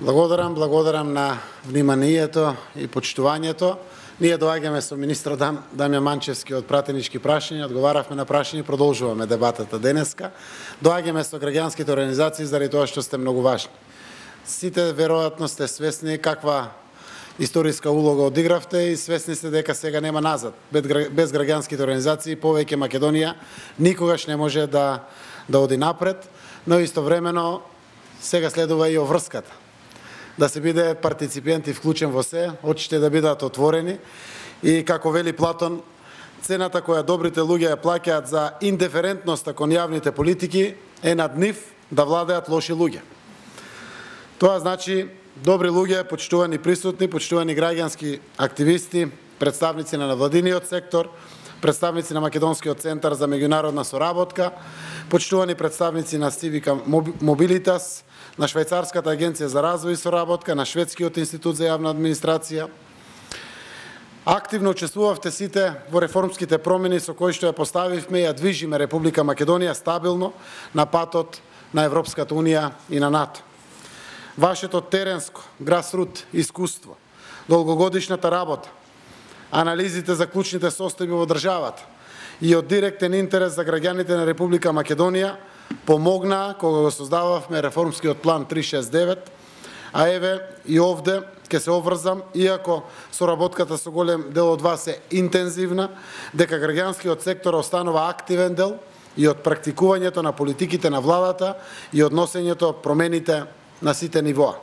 Благодарам на вниманието и почитувањето. Ние доаѓаме со министр Дамјан Манчевски од пратенички прашања, одговаравме на прашања и продолжуваме дебатата денеска. Доаѓаме со граѓанските организации заради тоа што сте многу важни. Сите веројатно сте свесни каква историска улога одигравте и свесни сте дека сега нема назад. Без граѓанските организации повеќе Македонија никогаш не може да оди напред, но истовремено сега следува и оврската. Да се биде партиципент и вклучен во се, очите да бидат отворени и како вели Платон, цената која добрите луѓе ја плаќаат за индиферентноста кон јавните политики е над нив да владеат лоши луѓе. Тоа значи добри луѓе, почитувани присутни, почитувани граѓански активисти, представници на невладиниот сектор, представници на Македонскиот центар за меѓународна соработка, почитувани представници на Civica Mobilitas, на Швајцарската агенција за развој и соработка, на Шведскиот институт за јавна администрација. Активно учествувавте сите во реформските промени со кои што ја поставивме и ја движиме Република Македонија стабилно на патот на Европската унија и на НАТО. Вашето теренско, грасрут искуство, долгогодишната работа, анализите за клучните состојби во државата и од директен интерес за граѓаните на Република Македонија помогна кога го создававме реформскиот план 369, а еве и овде ќе се обврзам, иако соработката со голем дел од вас е интензивна, дека граѓанскиот сектор останува активен дел и од практикувањето на политиките на владата и од носењето промените на сите нивоа.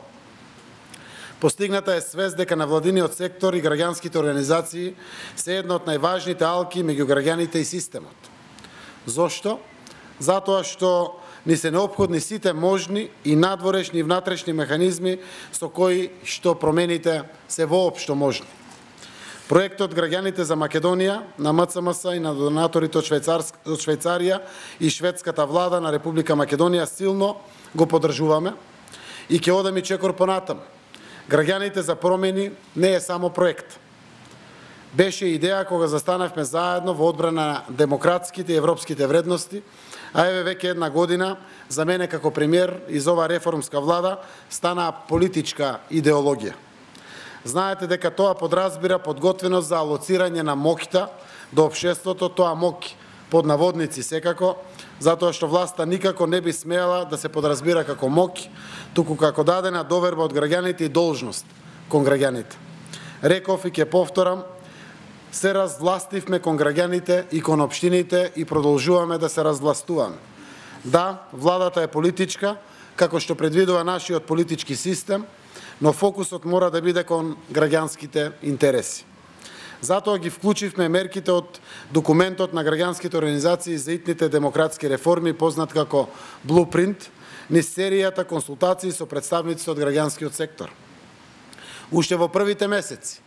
Постигната е свест дека невладиниот сектор и граѓанските организации се една од најважните алки меѓу граѓаните и системот. Зошто? Затоа што ни се неопходни сите можни и надворешни и внатрешни механизми со кои што промените се воопшто можни. Проектот Граѓаните за Македонија на МЦМС и на донаторите од Швајцарија и шведската влада на Република Македонија силно го поддржуваме и ќе одам и чекор понатаму. Граѓаните за промени не е само проект. Беше идеја кога застанавме заедно во одбрана на демократските и европските вредности, а еве веќе една година за мене како премиер из ова реформска влада стана политичка идеологија. Знаете дека тоа подразбира подготвеност за алоцирање на моќта до општеството, тоа моќ под наводници секако, затоа што власта никако не би смеела да се подразбира како моќ, туку како дадена доверба од граѓаните и должност кон граѓаните. Реков и ќе повторам, се развластивме кон граѓаните и кон општините и продолжуваме да се развластуваме. Да, владата е политичка, како што предвидува нашиот политички систем, но фокусот мора да биде кон граѓанските интереси. Затоа ги вклучивме мерките од документот на граѓанските организации за итните демократски реформи, познат како Blueprint, низ серијата консултации со представници од граѓанскиот сектор. Уште во првите месеци,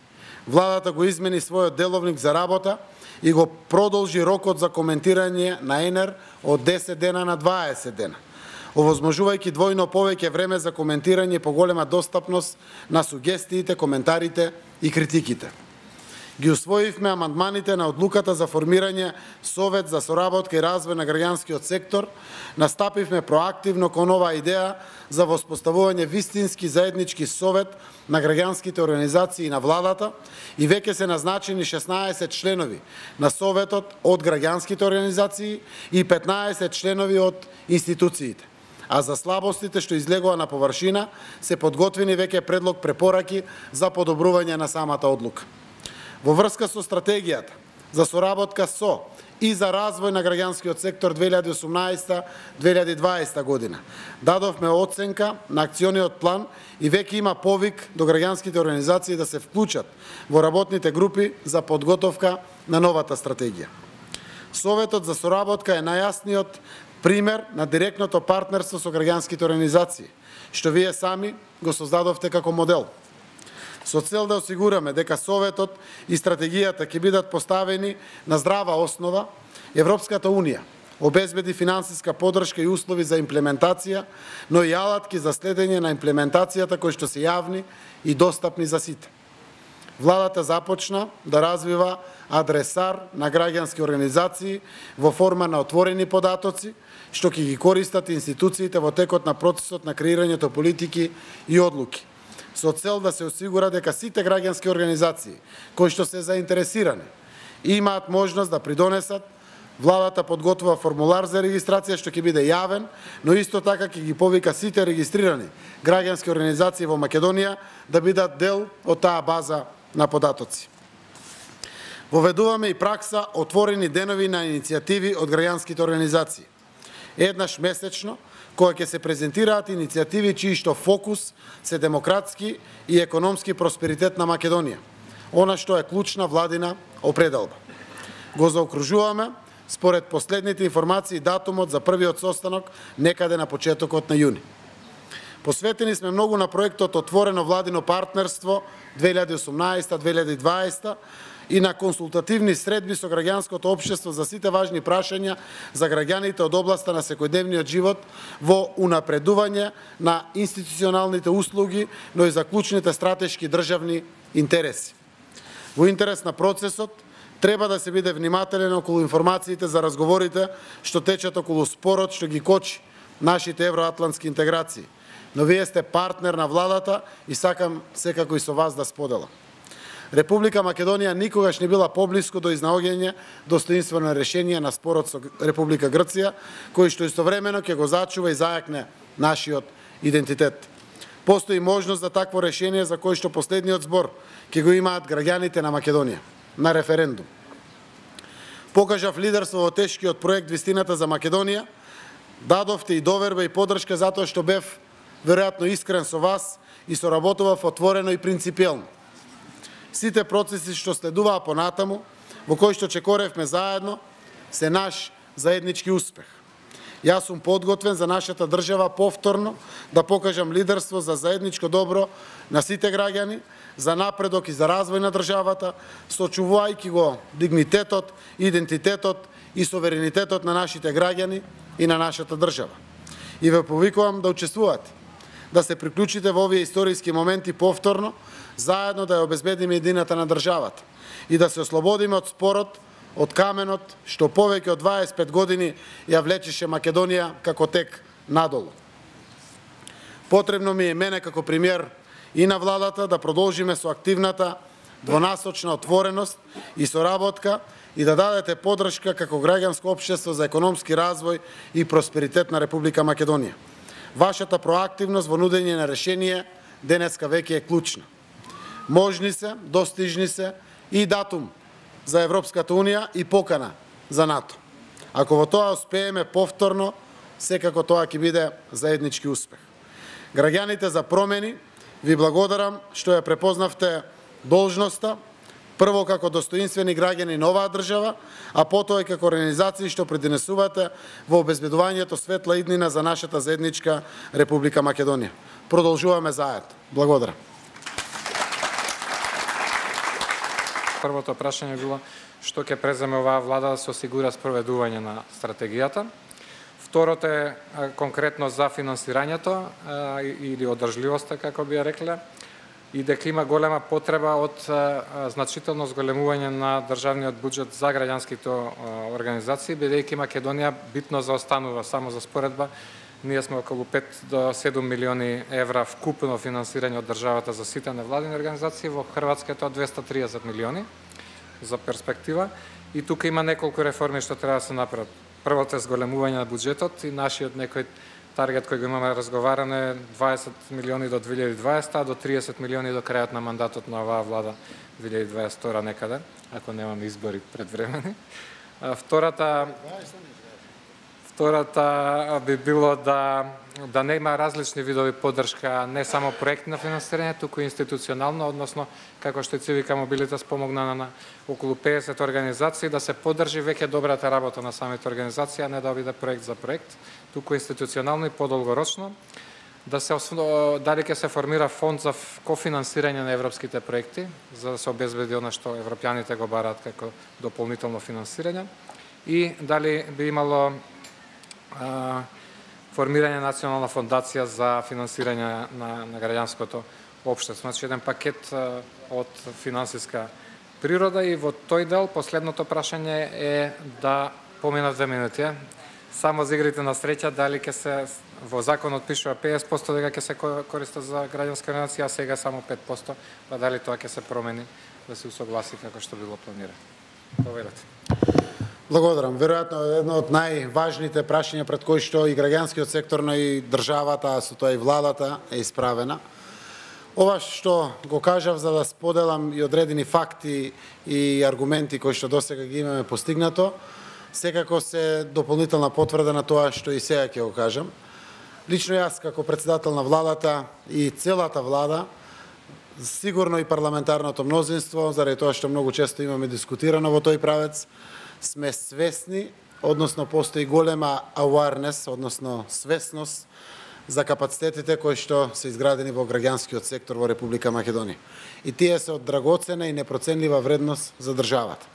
владата го измени својот деловник за работа и го продолжи рокот за коментирање на ЕНЕР од 10 дена на 20 дена, овозможувајќи двојно повеќе време за коментирање и поголема достапност на сугестиите, коментарите и критиките. Ги усвоивме амандманите на одлуката за формирање Совет за соработка и развој на граѓанскиот сектор, настапивме проактивно кон оваа идеја за воспоставување вистински заеднички совет на граѓанските организации и на владата и веќе се назначени 16 членови на Советот од граѓанските организации и 15 членови од институциите. А за слабостите што излегува на површина се подготвени веќе предлог препораки за подобрување на самата одлука. Во врска со стратегијата за соработка со и за развој на граѓанскиот сектор 2018-2020 година, дадовме оценка на акциониот план и веќе има повик до граѓанските организации да се вклучат во работните групи за подготовка на новата стратегија. Советот за соработка е најјасниот пример на директното партнерство со граѓанските организации, што вие сами го создадовте како модел. Со цел да осигураме дека Советот и стратегијата ќе бидат поставени на здрава основа, Европската Унија обезбеди финансиска поддршка и услови за имплементација, но и алатки за следење на имплементацијата кои што се јавни и достапни за сите. Владата започна да развива адресар на граѓански организации во форма на отворени податоци, што ќе ги користат институциите во текот на процесот на креирањето политики и одлуки, со цел да се осигура дека сите граѓански организации кои што се заинтересирани и имаат можност да придонесат. Владата подготвува формулар за регистрација што ќе биде јавен, но исто така ќе ги повика сите регистрирани граѓански организации во Македонија да бидат дел од таа база на податоци. Воведуваме и пракса отворени денови на иницијативи од граѓанските организации. Еднаш месечно, кога ќе се презентираат иницијативи чии што фокус се демократски и економски просперитет на Македонија, она што е клучна владина определба. Го заокружуваме според последните информации датумот за првиот состанок некаде на почетокот на јуни. Посветени сме многу на проектот Отворено владино партнерство 2018-2020 и на консултативни средби со граѓанското општество за сите важни прашања за граѓаните од областа на секојдневниот живот во унапредување на институционалните услуги, но и за клучните стратешки државни интереси. Во интерес на процесот, треба да се биде внимателен околу информациите за разговорите што течат околу спорот што ги кочи нашите евроатлантски интеграции. Но вие сте партнер на владата и сакам секако и со вас да споделам. Република Македонија никогаш не била поблиску до изнаоѓање достоинствено решение на спорот со Република Грција, кој што истовремено ќе го зачува и зајакне нашиот идентитет. Постои можност за такво решение за кој што последниот збор ќе го имаат граѓаните на Македонија на референдум. Покажав лидерство во тешкиот проект Вистината за Македонија, дадовте и доверба и поддршка затоа што бев веројатно искрен со вас и соработував отворено и принципиелно. Сите процеси што следуваа понатаму, во кои што чекоревме заедно, се наш заеднички успех. Јас сум подготвен за нашата држава повторно да покажам лидерство за заедничко добро на сите граѓани, за напредок и за развој на државата, сочувувајќи го дигнитетот, идентитетот и суверенитетот на нашите граѓани и на нашата држава. И ве повикувам да учествувате, да се приклучите во овие историски моменти повторно, заедно да ја обезбедиме едината на државата и да се ослободиме од спорот, од каменот што повеќе од 25 години ја влечеше Македонија како тек надолу. Потребно ми е мене како премиер и на владата да продолжиме со активната двонасочна отвореност и соработка и да дадете поддршка како граѓанско општество за економски развој и просперитет на Република Македонија. Вашата проактивност во нудење на решение денеска веќе е клучна. Можни се, достижни се и датум за Европската Унија и покана за НАТО. Ако во тоа успееме повторно, секако тоа ќе биде заеднички успех. Граѓаните за промени, ви благодарам што ја препознавте должноста, прво како достоинствени граѓани на оваа држава, а потоа и како организации што придонесувате во обезбедувањето светла иднина за нашата заедничка Република Македонија. Продолжуваме заедно. Благодарам. Првото прашање било што ќе преземе оваа влада да се осигура спроведување на стратегијата. Второто е конкретно за финансирањето или одржливоста, како би ја рекле, и дека има голема потреба од значително зголемување на државниот буџет за граѓанските организации, бидејќи Македонија битно заостанува. Само за споредба, ние сме околу 5 до 7 милиони евра вкупно финансирање од државата за сите невладини организации, во Хрватска е тоа 230 милиони за перспектива. И тука има неколку реформи што треба да се направат. Првото е зголемување на буџетот и нашиот некој таргет кој го имаме разговаране 20 милиони до 2020, а до 30 милиони до крајот на мандатот на оваа влада 2022 некаде, ако немаме избори предвремени. Втората би било да нема различни видови поддршка, не само проекти на финансирање, туку институционално, односно, како што Цивика Мобилитас помогна на околу 50 организации, да се поддржи веќе добрата работа на самите организации, а не да биде проект за проект, туку институционално и подолгорочно. Дали ќе се формира фонд за кофинансирање на европските проекти, за да се обезбеди она што европјаните го бараат како дополнително финансирање, и дали би имало формирање на национална фондација за финансирање на граѓанското општество. Значи, еден пакет од финансиска природа. И во тој дел, последното прашање е да помина 2 минути. само за игрите на среќа, дали ќе се во законот пишува 50% дека ќе се користат за граѓанска организација, а сега само 5%, па дали тоа ќе се промени да се усогласи како што било планирано. Повелете. Благодарам. Веројатно едно од најважните прашања пред кои што и граѓанскиот сектор, но и државата, а со тоа и владата е исправена. Ова што го кажав за да споделам и одредени факти и аргументи кои што досега ги имаме постигнато, секако се дополнителна потврда на тоа што и сега ќе го кажам. Лично јас како председател на владата и целата влада, сигурно и парламентарното мнозинство, заради тоа што многу често имаме дискутирано во тој правец, сме свесни, односно постои голема awareness, односно свесност за капацитетите кои што се изградени во граѓанскиот сектор во Република Македонија. И тие се од драгоцена и непроценлива вредност за државата.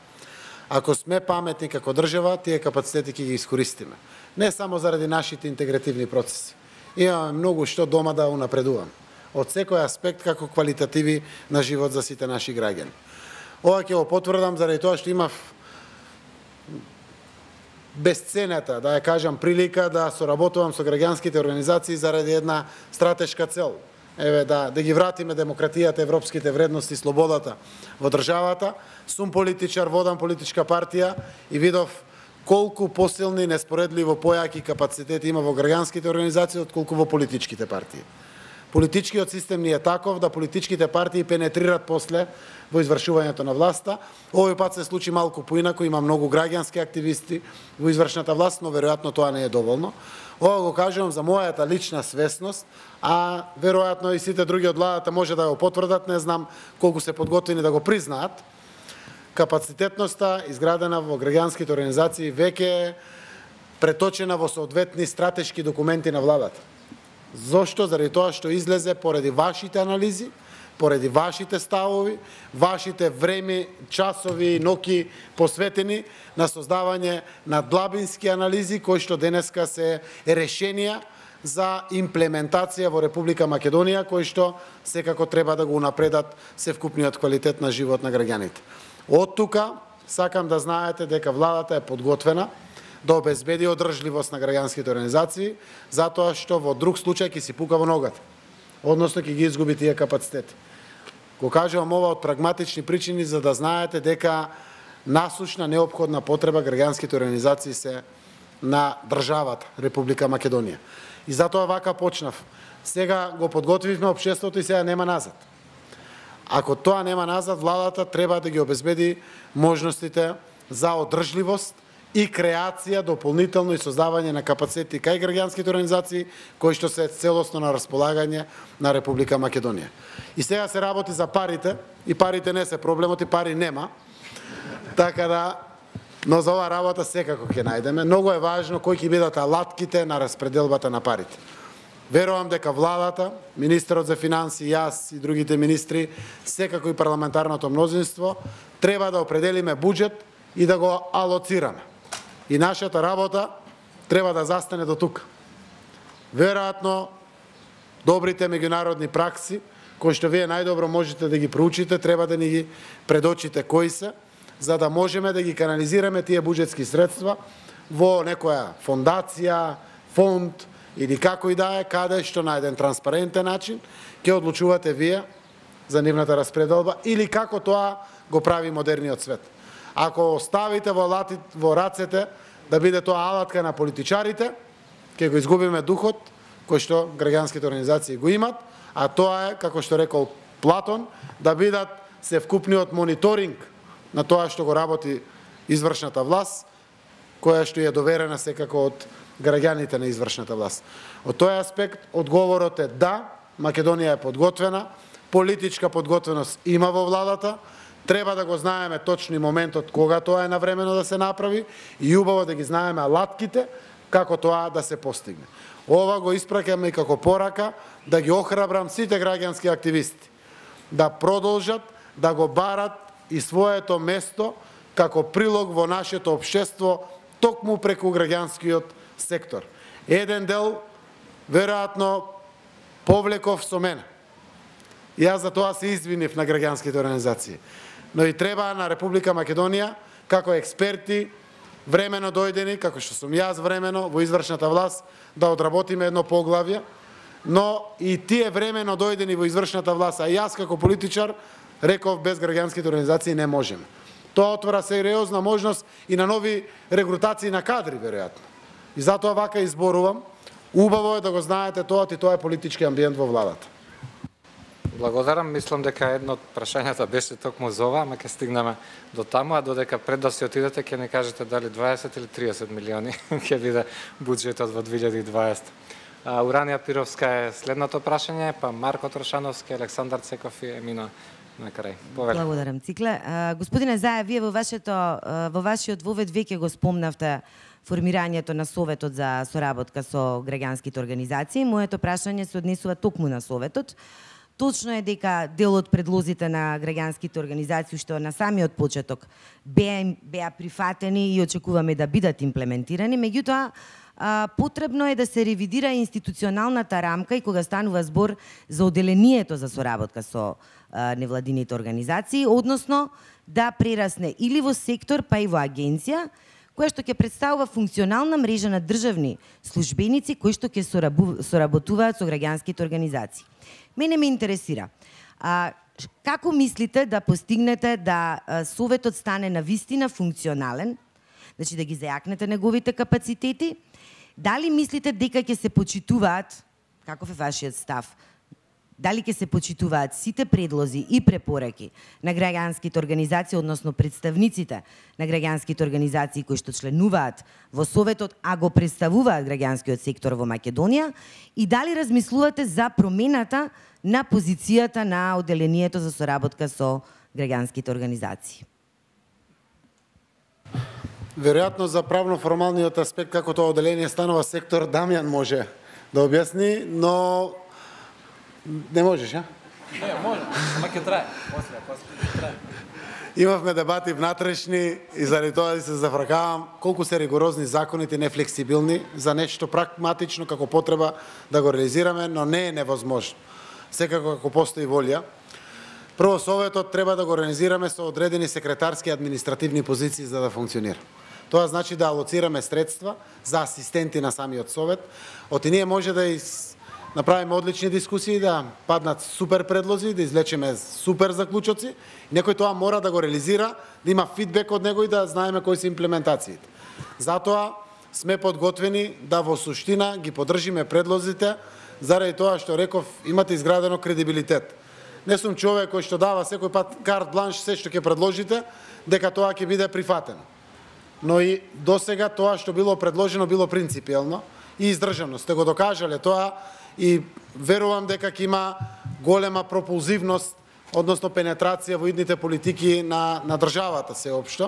Ако сме паметни како држава, тие капацитети ќе ги искористиме. Не само заради нашите интегративни процеси. Имаме многу што дома да унапредуваме. Од секој аспект како квалитативи на живот за сите наши граѓани. Ова ќе го потврдам заради тоа што имав безценета, да ја кажам, прилика да соработувам со граѓанските организации заради една стратешка цел. Еве да ги вратиме демократијата, европските вредности, слободата во државата. Сум политичар, водам политичка партија и видов колку посилни, неспоредливо појаки капацитети има во граѓанските организации отколку во политичките партии. Политичкиот систем ни е таков да политичките партии пенетрират после во извршувањето на власта. Овој пат се случи малку поинаку, има многу граѓански активисти во извршната власт, но веројатно тоа не е доволно. Ова го кажувам за мојата лична свесност, а веројатно и сите други од владата може да го потврдат, не знам колку се подготвени да го признаат. Капацитетноста изградена во граѓанските организации веќе е преточена во соодветни стратешки документи на владата. Зошто? Заради тоа што излезе поради вашите анализи, поради вашите ставови, вашите време, часови и ноки посветени на создавање на длабински анализи кои што денеска се решенија за имплементација во Република Македонија, кои што секако треба да го унапредат севкупниот квалитет на живот на граѓаните. Од тука сакам да знаете дека владата е подготвена да обезбеди одржливост на граѓанските организации, затоа што во друг случај ќе си пука во ногата, односно ќе ги изгуби тие капацитети. Го кажувам ова од прагматични причини за да знаете дека насушна неопходна потреба граѓанските организации се на државата Република Македонија. И затоа вака почнав. Сега го подготвивме општеството и сега нема назад. Ако тоа нема назад, владата треба да ги обезбеди можностите за одржливост и креација дополнително и создавање на капацитети кај граѓанските организации кои што се целосно на располагање на Република Македонија. И сега се работи за парите, и парите не се проблемот, и пари нема. Така да, но за оваа работа секако ќе најдеме. Многу е важно кои ќе бидат алатките на распределбата на парите. Верувам дека владата, министерот за финансии, јас и другите министри, секако и парламентарното мнозинство, треба да определиме буџет и да го алоцираме. И нашата работа треба да застане до тука. Веројатно, добрите меѓународни пракси, кои што вие најдобро можете да ги проучите, треба да ни ги предочите кои се, за да можеме да ги канализираме тие буџетски средства во некоја фондација, фонд или како и да е, каде што на еден транспарентен начин ќе одлучувате вие за нивната распределба или како тоа го прави модерниот свет. Ако оставите во рацете да биде тоа алатка на политичарите, ќе го изгубиме духот кој што граѓанските организации го имат, а тоа е, како што рекол Платон, да бидат севкупниот мониторинг на тоа што го работи извршната власт, која што е доверена секако од граѓаните на извршната власт. Од тој аспект, одговорот е да, Македонија е подготвена, политичка подготвеност има во владата, треба да го знаеме точно и моментот кога тоа е навремено да се направи и убаво да ги знаеме алатките како тоа да се постигне. Ова го испраќаме и како порака да ги охрабрам сите граѓански активисти да продолжат да го барат и своето место како прилог во нашето општество токму преку граѓанскиот сектор. Еден дел веројатно повлеков со мене. Јас за тоа се извинив на граѓанските организации. Но и треба на Република Македонија, како експерти времено дојдени, како што сум јас времено во извршната власт, да одработиме едно поглавје, но и тие времено дојдени во извршната власт, а јас како политичар реков без граѓанските организации не можеме. Тоа отвора сериозна можност и на нови регрутации на кадри, веројатно. И затоа вака изборувам. Убаво е да го знаете тоа, и тоа е политички амбиент во владата. Благодарам, мислам дека едно од прашањата беше токму за ова, ама ќе стигнеме до таму, а додека пред да се отидете ќе не кажете дали 20 или 30 милиони ќе биде буџетот во 2020. Уранија Пировска е следното прашање, па Марко Трошановски, Александар Цеков и Емина на крај. Повеле. Благодарам, Цикле. Господине Заев, вие во вашиот вовед веќе го спомнавте формирањето на Советот за соработка со граѓанските организации. Моето прашање се однесува токму на Советот. Точно е дека дел од предлозите на граѓанските организации што на самиот почеток беа прифатени и очекуваме да бидат имплементирани, меѓутоа потребно е да се ревидира институционалната рамка и кога станува збор за оделението за соработка со невладините организации, односно да прерасне или во сектор, па и во агенција, која што ќе представува функционална мрежа на државни службеници кои што ќе соработуваат со граѓанските организации. Мене ме интересира, како мислите да постигнете да Советот стане навистина функционален, значи да ги зајакнете неговите капацитети? Дали мислите дека ќе се почитуваат, каков е вашиот став, дали ќе се почитуваат сите предлози и препораки на граѓанските организации, односно представниците на граѓанските организации кои што членуваат во Советот, а го представуваат граѓанскиот сектор во Македонија, и дали размислувате за промената на позицијата на оделението за соработка со граѓанските организации? Веројатно за правно-формалниот аспект како тоа оделение станува сектор, Дамјан може да објасни, но не можеш, а? Не, може, ама ќе трае. После трае. Имавме дебати внатрешни и заради тоа се зафракавам колку се ригорозни законите, нефлексибилни за нешто прагматично како потреба да го реализираме, но не е невозможно. Секако ако постои волја. Прво, Советот треба да го организираме со одредени секретарски административни позиции за да функционира. Тоа значи да алоцираме средства за асистенти на самиот Совет. Оти ние може да направиме одлични дискусии, да паднат супер предлози, да извлечеме супер заклучоци. Некој тоа мора да го реализира, да има фидбек од него и да знаеме кои се имплементациите. Затоа сме подготвени да во суштина ги поддржиме предлозите, заради тоа што реков, имате изградено кредибилитет. Не сум човек кој што дава секој пат карт бланш, се што ќе предложите, дека тоа ќе биде прифатено. Но и досега тоа што било предложено било принципиелно и издржано. Сте го докажале тоа и верувам дека ќе има голема пропулзивност, односно пенетрација во идните политики на државата сеопшто.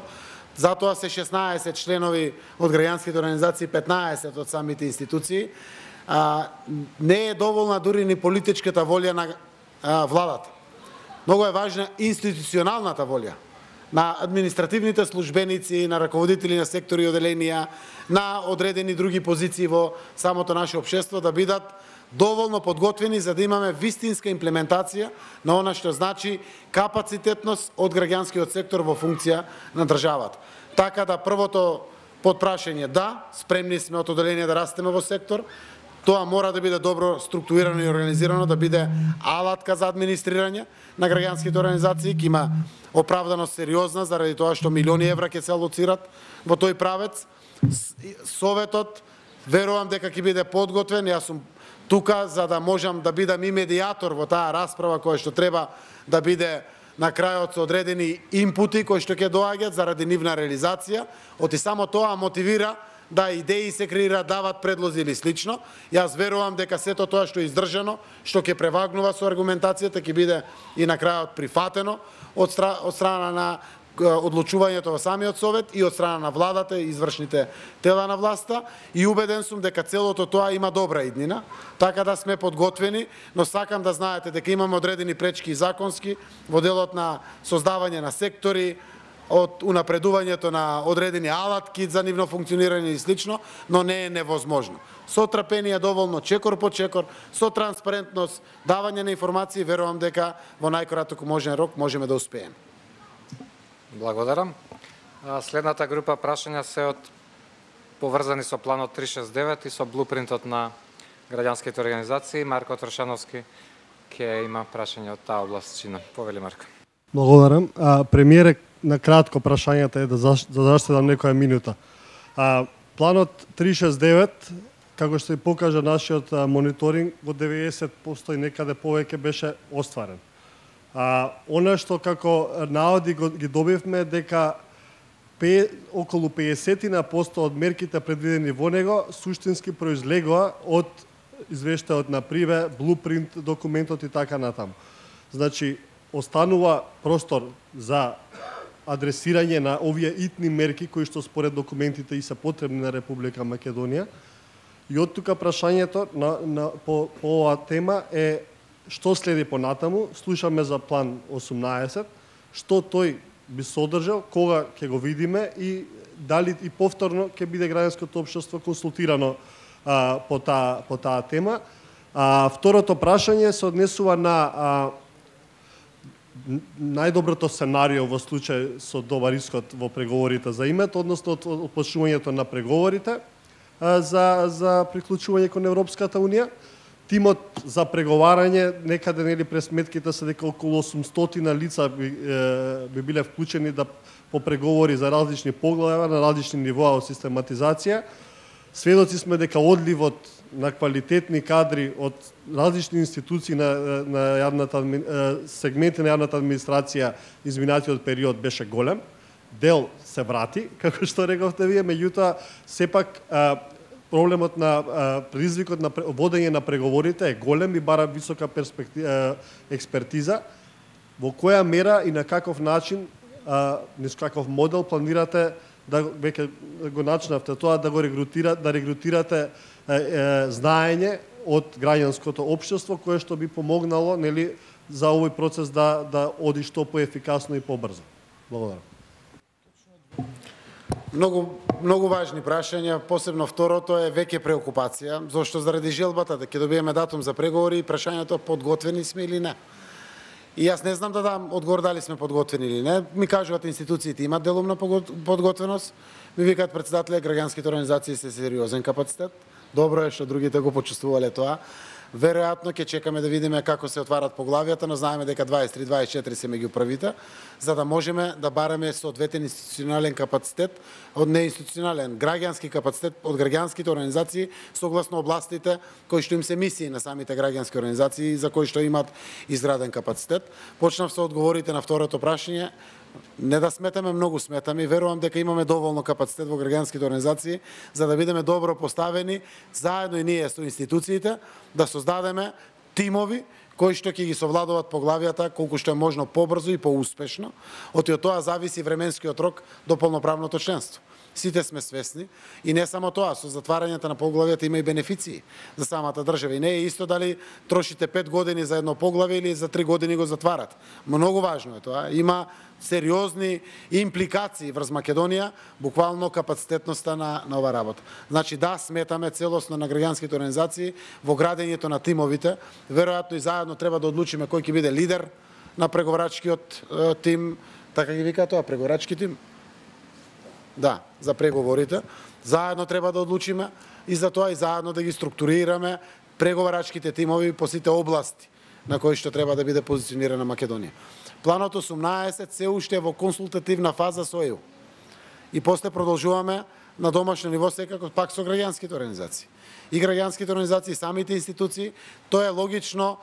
Затоа се 16 членови од граѓанските организации, 15 од самите институции. Не е доволна дури ни политичката волја на владата. Многу е важна институционалната волја на административните службеници, на раководители на сектори и оделенија, на одредени други позиции во самото наше општество да бидат доволно подготвени за да имаме вистинска имплементација на она што значи капацитетност од граѓанскиот сектор во функција на државата. Така да првото подпрашање да, спремни сме од оделение да растеме во сектор. Тоа мора да биде добро структурирано и организирано, да биде алатка за администрирање на граѓанските организации, ќе има оправданост сериозна заради тоа што милиони евра ќе се алоцират во тој правец. Советот верувам дека ќе биде подготвен. Јас сум тука за да можам да бидам и медијатор во таа расправа која што треба да биде на крајот со одредени импути кои што ќе доаѓаат заради нивна реализација. Оти само тоа мотивира да идеи се креираат, дават предлози или слично. Јас верувам дека сето тоа што е издржано, што ќе превагнува со аргументацијата, ќе биде и на крајот прифатено од страна на одлучувањето во самиот Совет и од страна на владата и извршните тела на власта. И убеден сум дека целото тоа има добра иднина, така да сме подготвени, но сакам да знаете дека имаме одредени пречки и законски во делот на создавање на сектори, од унапредувањето на одредени алатки за нивно функционирање и слично, но не е невозможно. Со трпение доволно, чекор по чекор, со транспарентност, давање на информации, верувам дека во најкраток можен рок можеме да успееме. Благодарам. Следната група прашања се од поврзани со планот 369 и со блупринтот на граѓанските организации. Марко Трошановски ќе има прашање од таа област. Повели Марко. Благодарам. Премиере, на кратко прашањата е да заштедам некоја минута. Планот 369, како што се покажа нашиот мониторинг, во 90% и некаде повеќе беше остварен. Она што како наводи ги добивме дека околу 50% од мерките предвидени во него суштински произлегоа од извештајот на Приве, блупринт документот и така натаму. Значи, останува простор за адресирање на овие итни мерки кои што според документите и се потребни на Република Македонија. И од тука прашањето по оваа тема е што следи понатаму. Слушаме за план 18, што тој би содржал, кога ќе го видиме и дали и повторно ќе биде граѓанското општество консултирано по таа тема. Второто прашање се однесува на најдоброто сценарио во случај со добар исход во преговорите за името, односно отпочнувањето на преговорите за приклучување кон Европската Унија. Тимот за преговарање, некаде нели през сметките се дека околу 800 лица би биле вклучени по преговори за различни поглави на различни нивоа од систематизација. Сведоци сме дека одливот на квалитетни кадри од различни институции на јавната сегменти на јавната администрација изминатиот период беше голем. Дел се врати, како што рековте вие, меѓутоа сепак проблемот на предизвикот на водење на преговорите е голем и бара висока експертиза. Во која мера и на каков начин, низ каков модел планирате да веќе го начнавте тоа да регрутирате знаење од граѓанското општество кое што би помогнало нели за овој процес да оди што поефикасно и побрзо. Благодарам. Многу важни прашања, посебно второто е веќе преокупација, зашто заради желбата да ќе добиеме датум за преговори и прашањето подготвени сме или не. И јас не знам да дам одговор дали сме подготвени или не. Ми кажуваат институциите имаат делумна подготвеност, ми викаат председателите граѓанските организации се сериозен капацитет. Добро е што другите го почувствувале тоа. Веројатно ќе чекаме да видиме како се отварат поглавијата, но знаеме дека 23-24 се меѓу првите, за да можеме да бараме соодветен институционален капацитет од неинституционален граѓански капацитет од граѓанските организации согласно областите кои што им се мисии на самите граѓански организации за кои што имаат изграден капацитет. Почнав со одговорите на второто прашање. Не да сметаме, многу сметаме и верувам дека имаме доволно капацитет во граѓанските организации за да бидеме добро поставени заедно и ние со институциите да создадеме тимови кои што ќе ги совладуваат поглавијата колку што е можно побрзо и поуспешно. Од тоа зависи временскиот рок до полноправното членство. Сите сме свесни и не само тоа, со затварањето на поглавијата има и бенефиции за самата држава. И не е исто дали трошите 5 години за едно поглавие или за 3 години го затварат. Многу важно е тоа. Има сериозни импликации врз Македонија, буквално капацитетноста на ова работа. Значи да, сметаме целосно на граѓанските организации во градењето на тимовите. Веројатно и заедно треба да одлучиме кој ќе биде лидер на преговарачкиот тим, така ги вика тоа, преговарачки тим. Да, за преговорите. Заедно треба да одлучиме и за тоа и заедно да ги структурираме преговарачките тимови по сите области на кои што треба да биде позиционирана Македонија. Планот 18 се уште во консултативна фаза со ЕУ. И после продолжуваме на домашно ниво секако пак со граѓанските организации. И граѓанските организации, самите институции, тоа е логично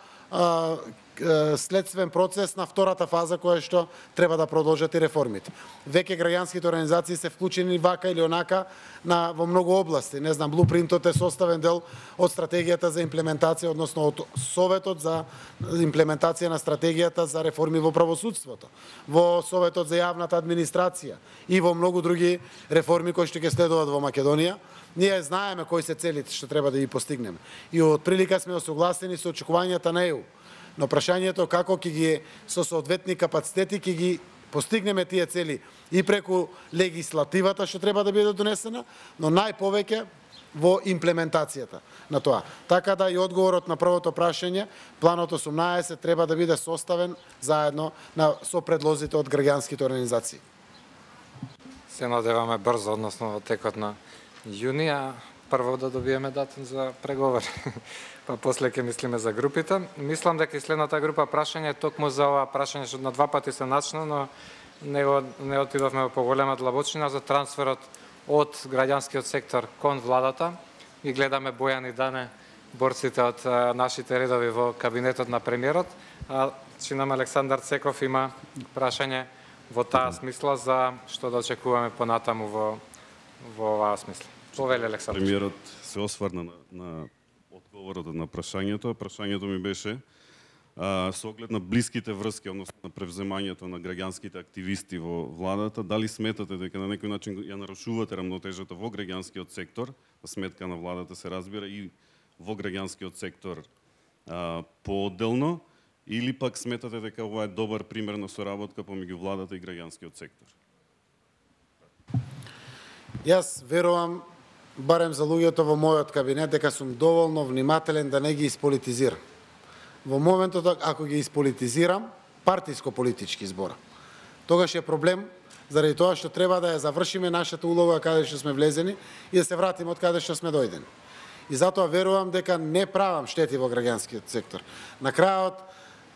следствен процес на втората фаза која што треба да продолжат и реформите. Веќе граѓанските организации се вклучени вака или онака во многу области. Не знам, блупринтот е составен дел од стратегијата за имплементација, односно од Советот за имплементација на стратегијата за реформи во правосудството, во Советот за јавната администрација и во многу други реформи кои што ќе следуваат во Македонија. Ние знаеме кои се целите што треба да ги постигнеме. И од прилика сме осогласени со очекувањата на ЕУ. Но прашањето како ќе ги со соодветни капацитети ќе ги постигнеме тие цели и преку легислативата што треба да биде донесена, но најповеќе во имплементацијата на тоа. Така да и одговорот на првото прашање, планот 18 треба да биде составен заедно со предлозите од граѓанските организации. се надеваме брзо, односно во текот на јуни, а прво да добиеме датум за преговори. Па после ќе мислиме за групите. Мислам дека и следната група прашање токму за ова прашање што на два пати се начна, но не отидовме во поголема длабочина за трансферот од граѓанскиот сектор кон владата. И гледаме Бојан и Дане, борците од нашите редови во кабинетот на премиерот. Чинам Александар Цеков има прашање во таа смисла за што да очекуваме понатаму во оваа смисла. Повели Александар. Премиерот се осврна на одговорот на прашањето. Прашањето ми беше со оглед на блиските врски, односно на превземањето на граѓанските активисти во владата, дали сметате дека на некој начин ја нарушувате рамнотежата во граѓанскиот сектор, на сметка на владата се разбира, и во граѓанскиот сектор поодделно, или пак сметате дека ова е добар пример на соработка помеѓу владата и граѓанскиот сектор? Јас верувам, барем за луѓето во мојот кабинет, дека сум доволно внимателен да не ги исполитизирам. Во моментот, ако ги исполитизирам, партиско-политички збора, тогаш е проблем, заради тоа што треба да ја завршиме нашата улога каде што сме влезени и да се вратиме од каде што сме дојдени. И затоа верувам дека не правам штети во граѓанскиот сектор. На крајот,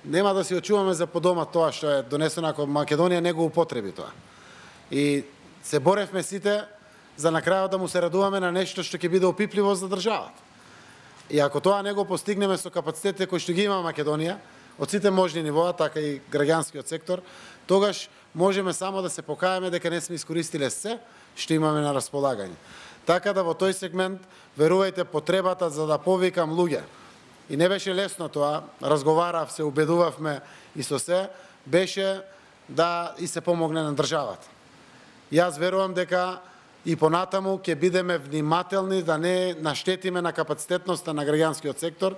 нема да си очуваме за подома тоа што е донесено ако Македонија не го употреби тоа. И се боревме сите за на крајот да му се радуваме на нешто што ќе биде опипливо за државата. И ако тоа не го постигнеме со капацитетите кои што ги има Македонија, од сите можни нивоа, така и граѓанскиот сектор, тогаш можеме само да се покајаме дека не сме искористиле се што имаме на располагање. Така да во тој сегмент, верувајте, потребата за да повикам луѓе, и не беше лесно тоа, разговарав, се убедувавме и со се, беше да и се помогне на државата. Јас верувам дека и понатаму ќе бидеме внимателни да не наштетиме на капацитетноста на граѓанскиот сектор,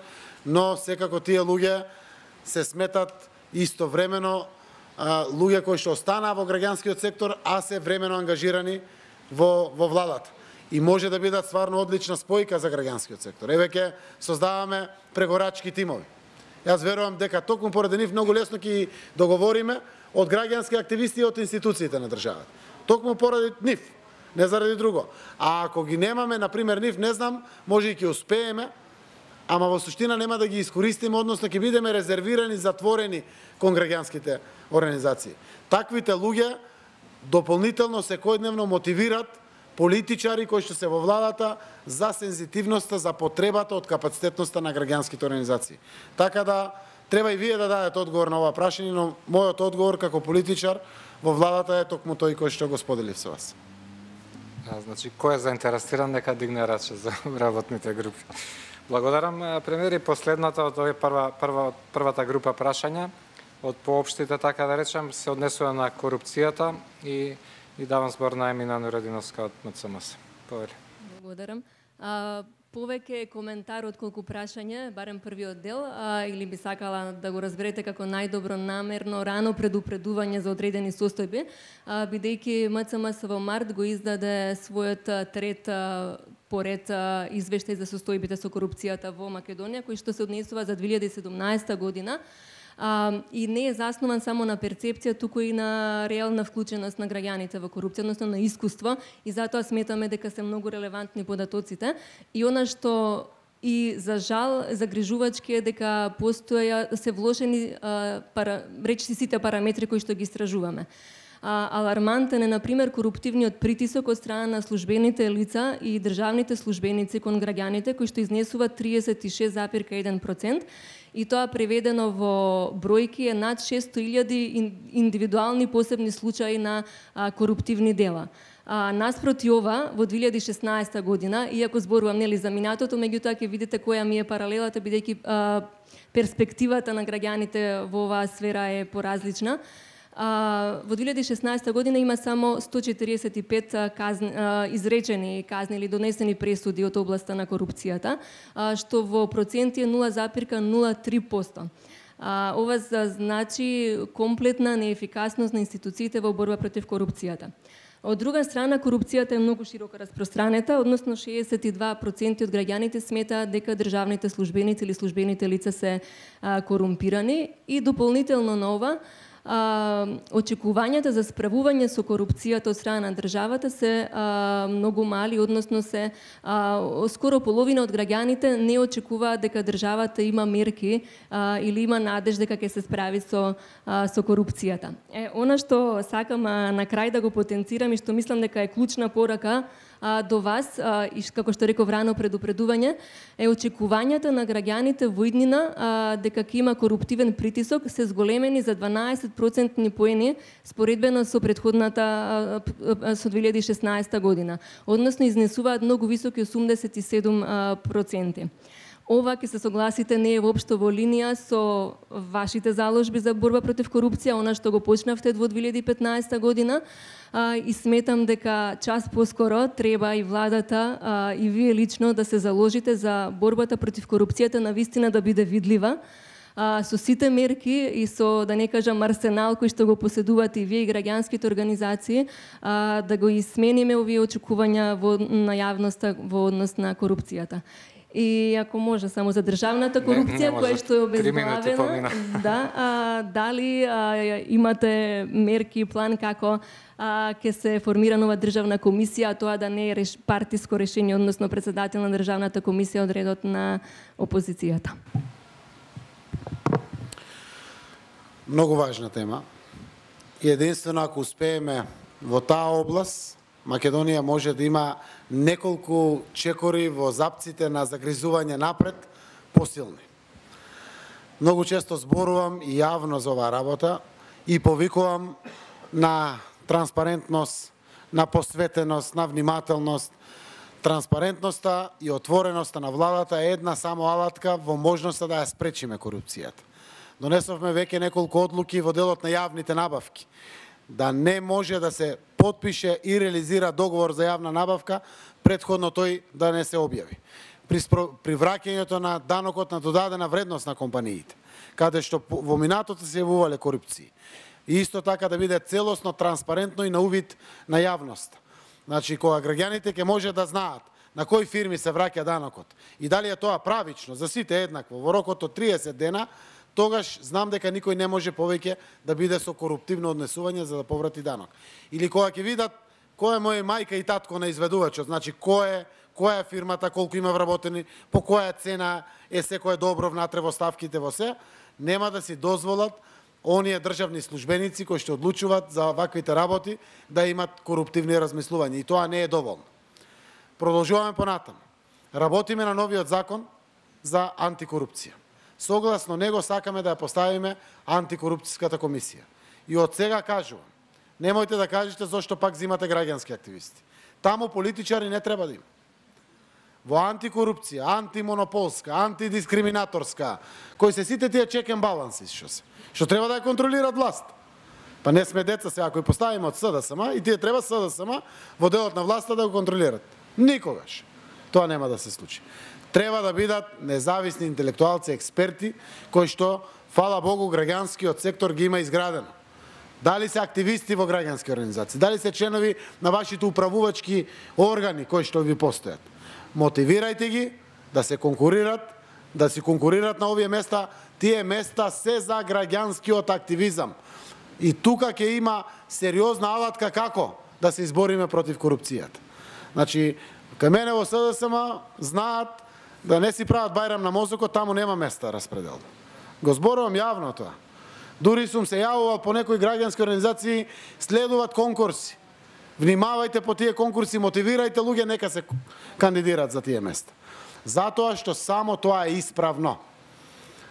но секако тие луѓе се сметат истовремено луѓе кои што останаа во граѓанскиот сектор, а се времено ангажирани во владата. И може да бидат стварно одлична спојка за граѓанскиот сектор. Еве ќе создаваме преговарачки тимови. Јас верувам дека токму поради нив многу лесно ќе договориме од граѓански активисти и од институциите на државата. Токму поради нив, не заради друго. А ако ги немаме, например, нив, не знам, може и ќе успееме, ама во суштина нема да ги искористиме, односно ќе бидеме резервирани, затворени кон граѓанските организации. Таквите луѓе дополнително секојдневно мотивират политичари кои што се во владата за сензитивноста, за потребата од капацитетноста на граѓанските организации. Така да треба и вие да дадете одговор на ова прашање, но мојот одговор како политичар во владата е токму тој кој што го споделив со вас. Значи, кој е заинтересиран, нека дигне раче за работните групи. Благодарам, премиери. Последната од првата група прашања, од поопштите, така да речем, се однесува на корупцијата и давам збор на Емина Нурединовска од МЦМС. Повели. Благодарам. Повеќе коментар отколку прашање, барем првиот дел, или би сакала да го разберете како најдобро намерно рано предупредување за одредени состојби, бидејќи МЦМС во март го издаде својот трет поред извештај за состојбите со корупцијата во Македонија, кој што се однесува за 2017 година. И не е заснован само на перцепција, туку и на реална вклученост на граѓаните во корупција, односно на искуство, и затоа сметаме дека се многу релевантни податоците. И она што и за жал загрижувачки е дека се вложени речиси сите параметри кои што ги истражуваме. Алармантен е, например, коруптивниот притисок од страна на службените лица и државните службеници кон граѓаните, кои што изнесува 36,1%, и тоа преведено во бројки е над 600.000 индивидуални посебни случаи на коруптивни дела. Наспроти ова, во 2016 година, иако зборувам нели за минатото, меѓутоа ќе видите која ми е паралелата, бидејќи перспективата на граѓаните во оваа сфера е поразлична. Во 2016 година има само 145 изречени казни или донесени пресуди од областа на корупцијата, што во проценти е 0,03%. Ова значи комплетна неефикасност на институциите во борба против корупцијата. Од друга страна, корупцијата е многу широко распространета, односно 62% од граѓаните сметаат дека државните службеници или службените лица се корумпирани, и дополнително на ова, очекувањата за справување со корупцијата од страна на државата се многу мали, односно се скоро половина од граѓаните не очекуваат дека државата има мерки или има надеж дека ќе се справи со корупцијата. Она што сакам на крај да го потенцирам и што мислам дека е клучна порака до вас, и како што реков рано предупредување, е очекувањата на граѓаните во иднина дека ќе има коруптивен притисок се зголемени за 12% поени споредбено со предходната со 2016 година. Односно изнесуваат многу високи 87%. Ова, ќе се согласите, не е воопшто во линија со вашите заложби за борба против корупција, она што го почнавте во 2015 година, и сметам дека час поскоро треба и владата и вие лично да се заложите за борбата против корупцијата навистина да биде видлива, со сите мерки и со, да не кажам, арсенал кој што го поседувате и вие и граѓанските организации, да го измениме овие очекувања на јавноста во однос на корупцијата. И ако може само за државната корупција, која што е обезглавена, дали имате мерки и план како ќе се формира нова државна комисија, а тоа да не е партиско решение, односно председател на државната комисија од редот на опозицијата? Многу важна тема. И единствено ако успееме во таа област, Македонија може да има неколку чекори во запците на загризување напред посилни. Многу често зборувам и јавно за оваа работа и повикувам на транспарентност, на посветеност, на внимателност. Транспарентноста и отвореноста на владата е една само алатка во можноста да ја спречиме корупцијата. Донесовме веќе неколку одлуки во делот на јавните набавки, да не може да се потпише и реализира договор за јавна набавка, претходно тој да не се објави. При враќањето на данокот на додадена вредност на компаниите, каде што во минатото се јавувале корупции. И исто така да биде целосно, транспарентно и на увид на јавност. Значи, кога граѓаните ќе може да знаат на кои фирми се враќа данокот и дали е тоа правично за сите еднакво во рокот од 30 дена, тогаш знам дека никој не може повеќе да биде со коруптивно однесување за да поврати данок. Или кога ќе видат кој е моја мајка и татко на изведувачот, значи која е фирмата, колку има вработени, по која цена е секое добро внатре во ставките во се, нема да си дозволат оние државни службеници кои што одлучуваат за ваквите работи да имат коруптивни размислувања. И тоа не е доволно. Продолжуваме понатаму. Работиме на новиот закон за антикорупција. Согласно него сакаме да ја поставиме антикорупцијската комисија. И од сега кажувам, немојте да кажете зошто пак взимате граѓански активисти. Таму политичари не треба да има. Во антикорупција, антимонополска, антидискриминаторска, кои се сите тие check and balances што треба да ја контролираат власт. Па не сме деца сега, кои поставиме од СДСМ и тие треба СДСМ во делот на власта да го контролираат. Никогаш. Тоа нема да се случи. Треба да бидат независни интелектуалци, експерти, кои што, фала Богу, граѓанскиот сектор ги има изградено. Дали се активисти во граѓански организации, дали се членови на вашите управувачки органи кои што ви постојат. Мотивирајте ги да се конкурират, да си конкурират на овие места. Тие места се за граѓанскиот активизам. И тука ќе има сериозна алатка како да се избориме против корупцијата. Значи, кај мене во СДСМ знаат да не си прават бајрам на мозокот, таму нема места распредел. Го зборувам јавно тоа. Дури сум се јавувал по некои граѓански организации, следуваат конкурси. Внимавајте по тие конкурси, мотивирајте луѓе нека се кандидираат за тие места. Затоа што само тоа е исправно.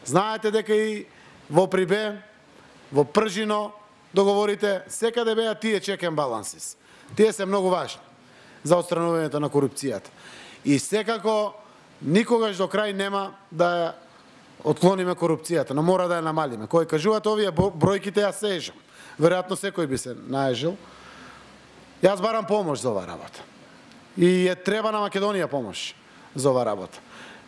Знаете дека и во Прибе, во Пржино, договорите, секаде беа тие check and balances. Тие се многу важни за отстранувањето на корупцијата. И секако никогаш до крај нема да ја отклониме корупцијата, но мора да ја намалиме. Кој кажуваат овие бројките, јас се ежам. Веројатно секој би се наежил. Јас барам помош за оваа работа. И треба на Македонија помош за оваа работа.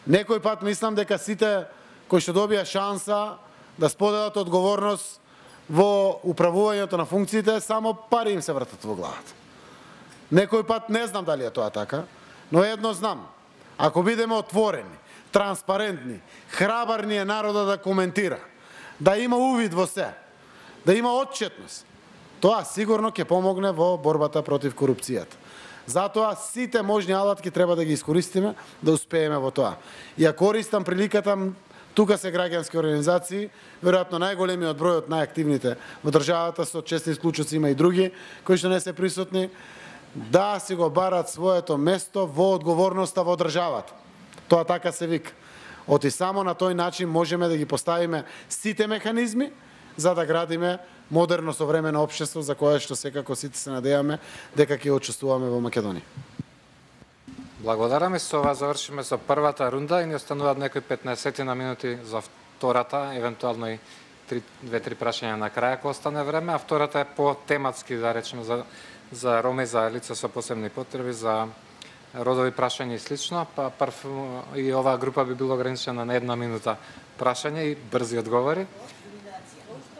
Некој пат мислам дека сите кои што добија шанса да споделат одговорност во управувањето на функциите, само пари им се вртат во главата. Некој пат не знам дали е тоа така, но едно знам. Ако бидеме отворени, транспарентни, храбарни е народа да коментира, да има увид во се, да има отчетност. Тоа сигурно ќе помогне во борбата против корупцијата. Затоа сите можни алатки треба да ги искористиме да успееме во тоа. Ја користам приликата, тука се граѓански организации, веројатно најголемиот број од најактивните во државата, со чести исклучоци има и други кои што не се присутни, да си го барат своето место во одговорноста во државата. Тоа така се вика. Оти само на тој начин можеме да ги поставиме сите механизми за да градиме модерно современо општество за кое што секако сите се надеваме дека ќе учествуваме во Македонија. Благодарам и со ова завршиме со првата рунда и ни остануваат некои 15 на минути за втората, евентуално и 2-3 прашања на крај ако остане време, а втората е по тематски да речеме за роми, за лица со посебни потреби, за родови прашања и слично, па прв и оваа група би било ограничена на 1 минута прашање и брзи одговори.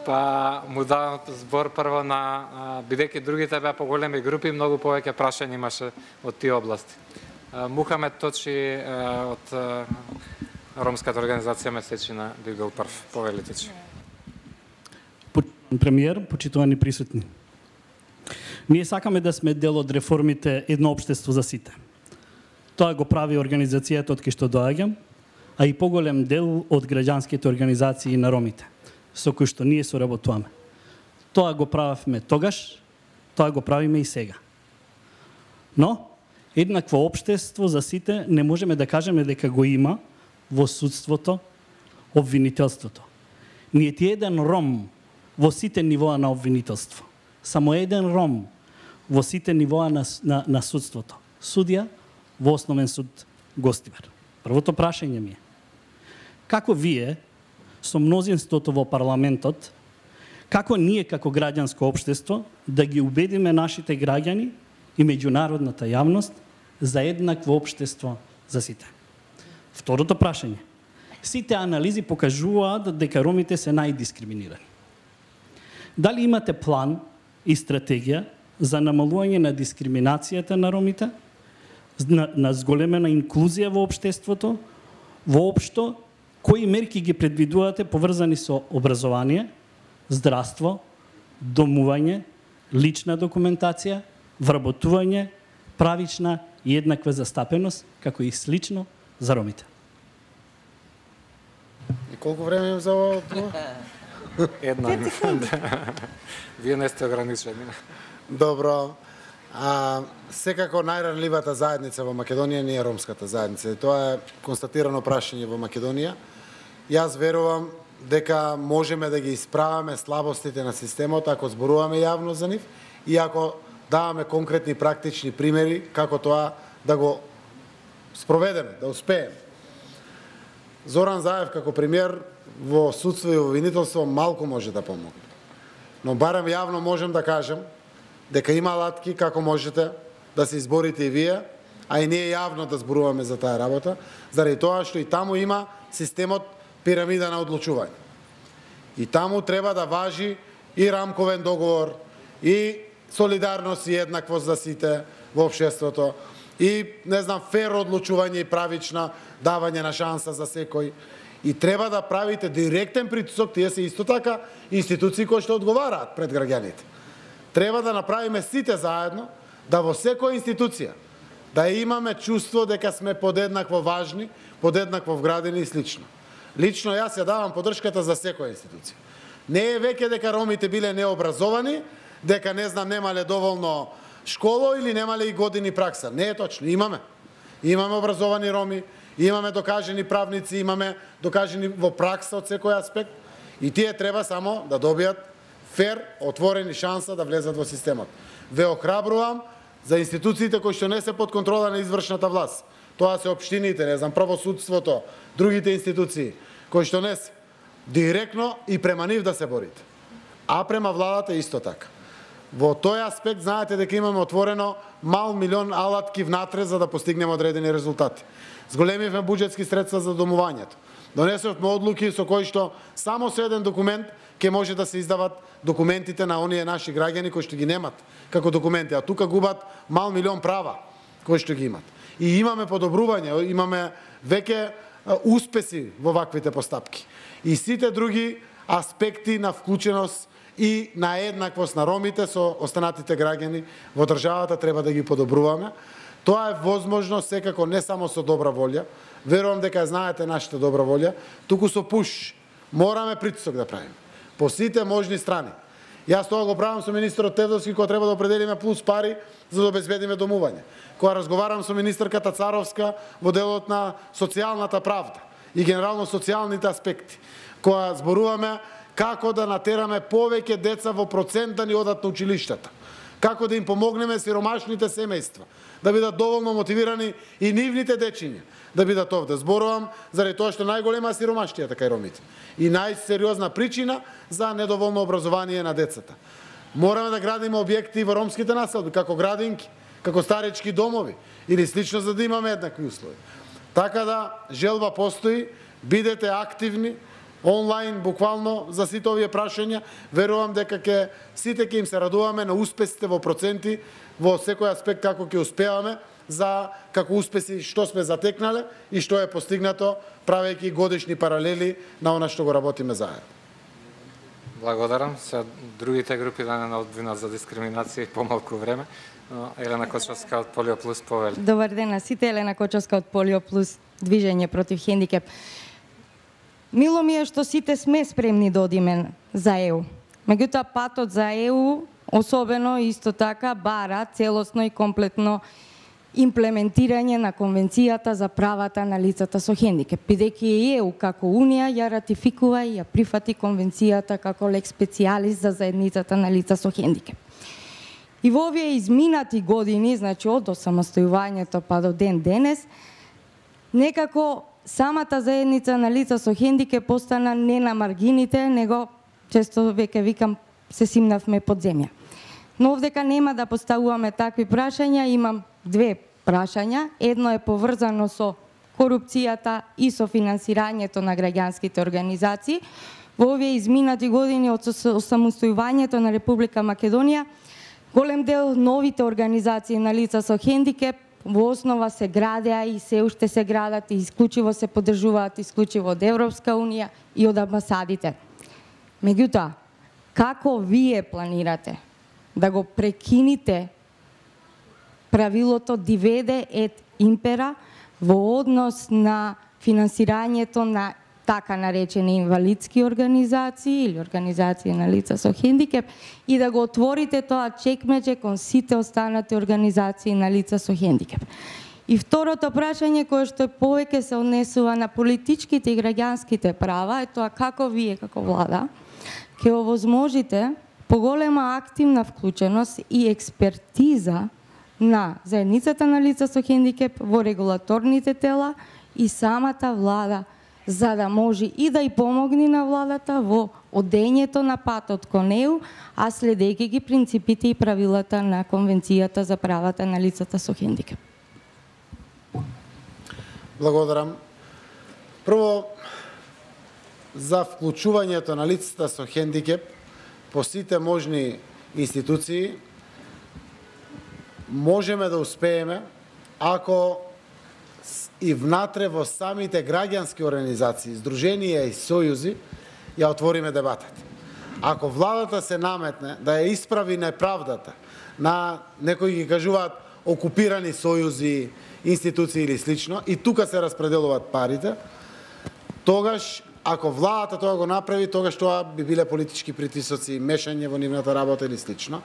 Па му давам збор прво на, бидејќи другите беа поголеми групи, многу повеќе прашања имаше од тие области. Мухамед Точи од ромската организација Месечина би бил прв. Повелите Точи. Премиер, почитувани присутни. Ние сакаме да сме дел од реформите Едно општество за сите. Тоа го прави организацијата од кај што доаѓам, а и поголем дел од граѓанските организации на ромите, со кои што ние соработуваме. Тоа го правевме тогаш, тоа го правиме и сега. Но, еднакво општество за сите не можеме да кажеме дека го има во судството, обвинителството. Нијети еден ром во сите нивоа на обвинителство. Само еден ром во сите нивоа на судството. Судија во Основен суд Гостивар. Првото прашање ми е: како вие, со мнозинството во парламентот, како ние како граѓанско општество да ги убедиме нашите граѓани и меѓународната јавност за еднакво општество за сите? Второто прашање: сите анализи покажуваат дека ромите се најдискриминирани. Дали имате план и стратегија за намалување на дискриминацијата на ромите, на зголемена инклузија во општеството, воопшто, кои мерки ги предвидувате поврзани со образование, здравство, домување, лична документација, вработување, правична и еднаква застапеност, како и слично за ромите? И колку време имам за ова? Една минута. Вие не сте ограничени. Добро. Секако најранливата заедница во Македонија не е ромската заедница. Тоа е констатирано прашање во Македонија. Јас верувам дека можеме да ги исправаме слабостите на системот ако зборуваме јавно за нив и ако даваме конкретни практични примери како тоа да го спроведеме, да успееме. Зоран Заев како премиер во судство и во обвинителство малку може да помогне. Но барем јавно можем да кажем дека има алатки како можете да се изборите и вие, а и ние јавно да зборуваме за таа работа, заради тоа што и таму има системот пирамида на одлучување. И таму треба да важи и рамковен договор, и солидарност и еднаквост за сите во општеството, и, не знам, фер одлучување и правична давање на шанса за секој. И треба да правите директен притисок, тие се исто така институции кои што одговараат пред граѓаните. Треба да направиме сите заедно, да во секоја институција да имаме чувство дека сме подеднакво важни, подеднакво вградени и слично. Лично јас ја давам поддршката за секоја институција. Не е веќе дека ромите биле необразовани, дека не знам немале доволно школо или немале и години пракса. Не е точно, имаме. Имаме образовани роми, имаме докажени правници, имаме докажени во пракса од секој аспект и тие треба само да добијат фер, отворени шанса да влезат во системот. Ве охрабрувам за институциите кои што не се под контрола на извршната власт. Тоа се општините, не знам, правосудството, другите институции, кои што не се директно и према нив да се борите. А према владата исто така. Во тој аспект знаете дека имаме отворено мал милион алатки внатре за да постигнеме одредени резултати. Зголемивме буџетски средства за домувањето. Донесовме одлуки со кои што само со еден документ ќе може да се издават документите на оние наши граѓани кои што ги немат како документи, а тука губат мал милион права кои што ги имат. И имаме подобрување, имаме веќе успеси во ваквите постапки. И сите други аспекти на вклученост и на еднаквост на ромите со останатите граѓани во државата треба да ги подобруваме. Тоа е возможно секако не само со добра волја, верувам дека знаете нашата добра волја, туку со пуш. Мораме притисок да правиме по сите можни страни. Јас тоа го правам со министерот Тевдовски, кој треба да определиме плюс пари за да обезбедиме домување. Кога разговарам со министерката Царовска во делот на социјалната правда и генерално социјалните аспекти, кога зборуваме како да натераме повеќе деца во процент да ни одат на училиштата, како да им помогнеме сиромашните семејства, да бидат доволно мотивирани и нивните дечиња да бидат овде. Зборувам заради тоа што најголема сиромаштијата кај ромите и најсериозна причина за недоволно образование на децата. Мораме да градиме објекти во ромските населби, како градинки, како старечки домови или слично, за да имаме еднакви услови. Така да, желба постои, бидете активни, онлайн, буквално, за сите овие прашања. Верувам дека сите ќе им се радуваме на успесите во проценти, во секој аспект како ќе успеаме, за како успеси што сме затекнале и што е постигнато, правејќи годишни паралели на она што го работиме заедно. Благодарам. Се другите групи да не одвинат за дискриминација и помалку време. Елена Кочовска од Полио Плюс повели. Добар ден на сите, Елена Кочовска од Полио Плюс, Движење против хендикеп. Мило ми е што сите сме спремни да одиме за ЕУ. Меѓутоа, патот за ЕУ, особено исто така, бара целосно и комплетно имплементирање на Конвенцијата за правата на лицата со хендикеп, бидејќи ЕУ како Унија ја ратификува и ја прифати Конвенцијата како лек специјалис за заедницата на лица со хендикеп. И во овие изминати години, значи од осамостојувањето па до ден денес, некако самата заедница на лица со хендикеп постана не на маргините, него често веќе викам се симнавме под земја. Но овдека нема да поставуваме такви прашања, имам две прашања. Едно е поврзано со корупцијата и со финансирањето на граѓанските организации. Во овие изминати години од осамостојувањето на Република Македонија, голем дел новите организации на лица со хендикеп во основа се градеа и се уште се градат и исклучиво се поддржуваат исклучиво од Европска Унија и од амбасадите. Меѓутоа, како вие планирате да го прекините правилото диведе ет импера во однос на финансирањето на така наречени инвалидски организации или организации на лица со хендикеп и да го отворите тоа чекмеџе кон сите останати организации на лица со хендикеп. И второто прашање, кое што повеќе се однесува на политичките и граѓанските права, е тоа како вие како влада ќе овозможите поголема активна вклученост и експертиза на заедницата на лица со хендикеп во регулаторните тела и самата влада, за да може и да и помогне на владата во одењето на патот кон ЕУ, а следејќи ги принципите и правилата на Конвенцијата за правата на лицата со хендикеп. Благодарам. Прво, за вклучувањето на лицата со хендикеп по сите можни институции, можеме да успееме ако и внатре во самите граѓански организации, здруженија и сојузи ја отвориме дебатата. Ако владата се наметне да ја исправи неправдата на некои ги кажуваат окупирани сојузи, институции или слично, и тука се распределуваат парите, тогаш ако владата тоа го направи, тогаш тоа би биле политички притисоци, мешање во нивната работа или слично.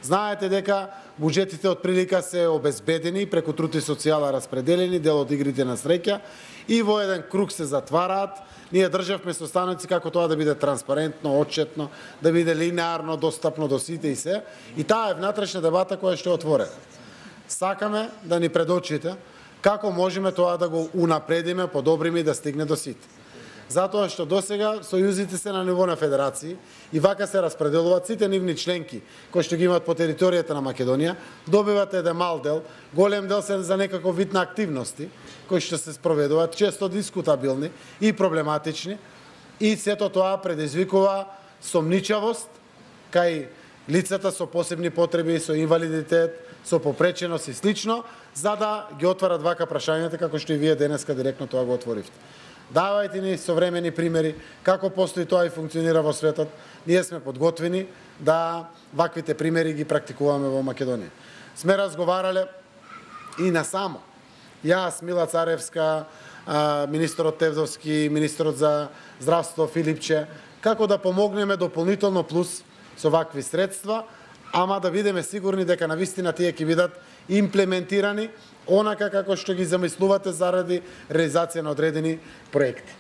Знаете дека буџетите од прилика се обезбедени, преку труд и социјала распределени, дел од игрите на среќа и во еден круг се затвараат. Ние државме состаноци како тоа да биде транспарентно, отчетно, да биде линеарно, достапно до сите и се. И таа е внатрешна дебата која што е отворена. Сакаме да ни предочите како можеме тоа да го унапредиме, подобриме и да стигне до сите. Затоа што досега сојузите се на ниво на федерации и вака се распределуваат сите нивни членки кои што ги имаат по територијата на Македонија, добиват еден мал дел, голем дел се за некаков вид на активности кои што се спроведуваат, често дискутабилни и проблематични, и сето тоа предизвикува сомничавост кај лицата со посебни потреби, со инвалидитет, со попреченост и слично, за да ги отварат вака прашањата како што и вие денеска директно тоа го отворивте. давајте ни современи примери како постои тоа и функционира во светот. Ние сме подготвени да ваквите примери ги практикуваме во Македонија. Сме разговарале и насамо. Јас, Мила Царевска, министерот Тевдовски, министерот за здравство Филипче, како да помогнеме дополнително плюс со вакви средства, ама да бидеме сигурни дека навистина тие ќе бидат имплементирани онака како што ги замислувате заради реализација на одредени проекти.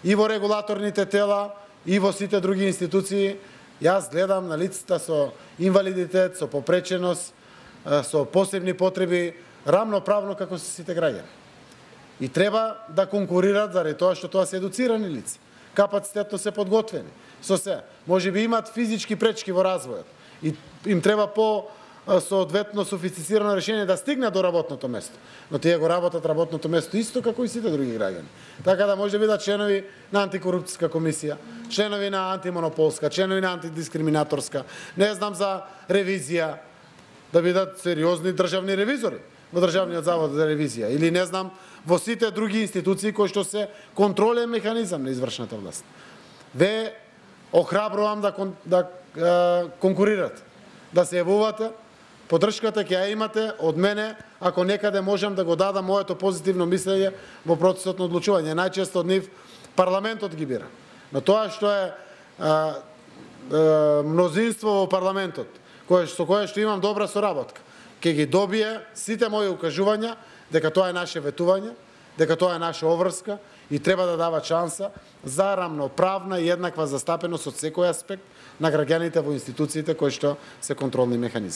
И во регулаторните тела, и во сите други институции, јас гледам на лицата со инвалидитет, со попреченост, со посебни потреби, рамноправно како се сите граѓани. И треба да конкурират заради тоа што тоа се едуцирани лица, капацитетно се подготвени. Со се, можеби имат физички пречки во развојот и им треба соодветно софистицирано решение да стигнат до работното место. Но тие го работат работното место исто како и сите други граѓани. Така да може да бидат членови на антикорупцијска комисија, членови на антимонополска, членови на антидискриминаторска, не знам за ревизија, да бидат сериозни државни ревизори во Државниот завод за ревизија или не знам во сите други институции кои што се контролен механизам на извршната власт. Ве охрабрувам да конкурирате, да се јавувате. Поддршката ќе ја имате од мене, ако некаде можам да го дадам моето позитивно мислење во процесот на одлучување. Најчесто од нив парламентот ги бира. Но тоа што е мнозинство во парламентот, со кое што имам добра соработка, ќе ги добие сите мои укажувања дека тоа е наше ветување, дека тоа е наша обврска и треба да дава шанса за рамноправна и еднаква застапеност од секој аспект на граѓаните во институциите кои што се контролни механизми.